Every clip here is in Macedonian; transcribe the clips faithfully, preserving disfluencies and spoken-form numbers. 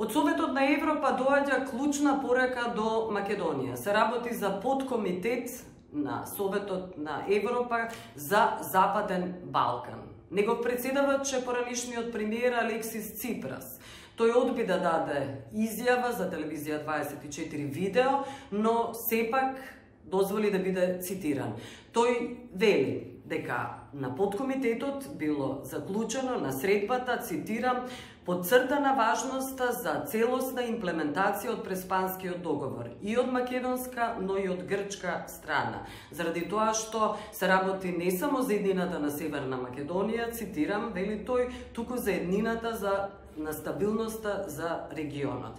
Од Советот на Европа доаѓа клучна порека до Македонија. Се работи за подкомитет на Советот на Европа за Западен Балкан. Негов председавач е поранишниот премиер Алексис Ципрас. Тој одби да даде изјава за телевизија дваесет и четири видео, но сепак дозволи да биде цитиран. Тој вели дека на подкомитетот било заклучено на средбата, цитирам, подцртана важноста за целосна имплементација од Преспанскиот договор и од македонска, но и од грчка страна. Заради тоа што се работи не само за еднината на Северна Македонија, цитирам, вели тој, туку за еднината за на стабилноста за регионот.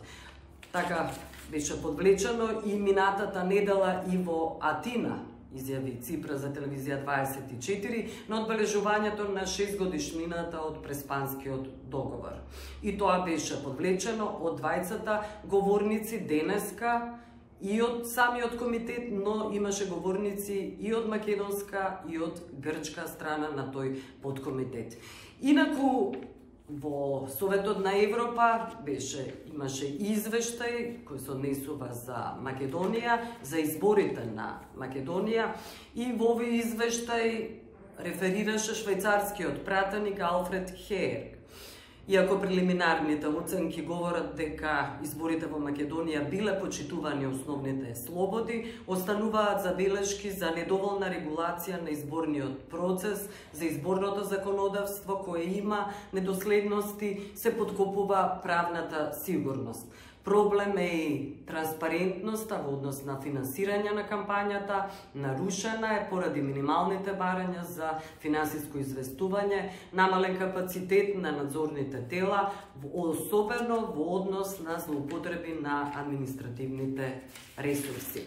Така беше подвлечено и минатата недела и во Атина, изјави Ципрас за телевизија дваесет и четири, на одбележувањето на шестгодишнината од Преспанскиот договор. И тоа беше подвлечено од двајцата говорници денеска и од самиот комитет, но имаше говорници и од македонска и од грчка страна на тој подкомитет. Инаку, во Советот на Европа беше, имаше извештај кој се однесува за Македонија, за изборите на Македонија, и во овој извештај реферираше швајцарскиот пратеник Алфред Хеер. Иако прелиминарните оценки говорат дека изборите во Македонија биле почитувани основните слободи, остануваат забелешки за недоволна регулација на изборниот процес, за изборното законодавство кое има недоследности, се подкопува правната сигурност. Проблем е и транспарентноста во однос на финансирање на кампањата, нарушена е поради минималните барања за финансиско известување, намален капацитет на надзорните тела, особено во однос на злоупотреби на административните ресурси.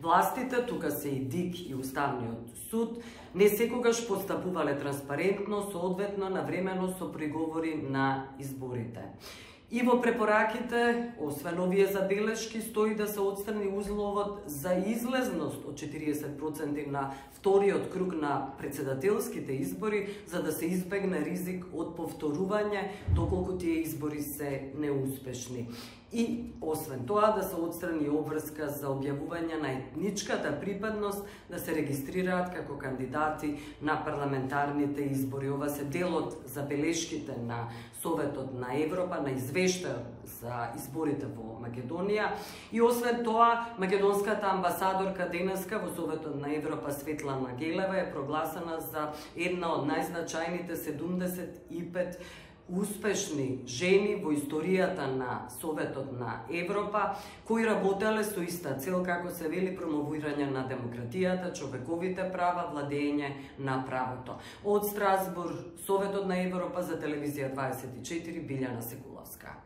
Властите, тука се и ДИК и Уставниот суд, не секогаш постапувале транспарентно, соодветно навремено со приговори на изборите. И во препораките, освен овие забелешки, стои да се отстрани условот за излезност од четириесет проценти на вториот круг на председателските избори, за да се избегне ризик од повторување доколку тие избори се неуспешни. И, освен тоа, да се отстрани обврска за објавување на етничката припадност, да се регистрираат како кандидати на парламентарните избори. Ова се дел од забелешките на Советот на Европа, на извештајот за изборите во Македонија. И освен тоа, македонската амбасадорка денеска во Советот на Европа Светлана Гелева е прогласена за една од најзначајните седумдесет и пет успешни жени во историјата на Советот на Европа, кои работеле со иста цел, како се вели, промовирање на демократијата, човековите права, владење на правото. Од Страсбург, Советот на Европа за телевизија дваесет и четири, Билјана Секуловска.